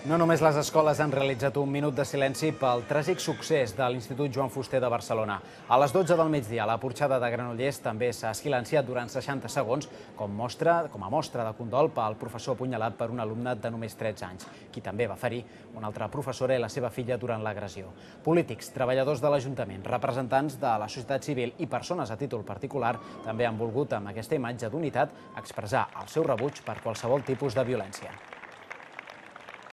No només les escoles han realitzat un minut de silenci pel tràgic succés de l'Institut Joan Fuster de Barcelona. A les 12 del migdia, la porxada de Granollers també s'ha silenciat durant 60 segons com a mostra de condol pel professor apunyalat per un alumne de només 13 anys, qui també va ferir una altra professora i la seva filla durant l'agressió. Polítics, treballadors de l'Ajuntament, representants de la societat civil i persones a títol particular també han volgut, amb aquesta imatge d'unitat, expressar el seu rebuig per qualsevol tipus de violència.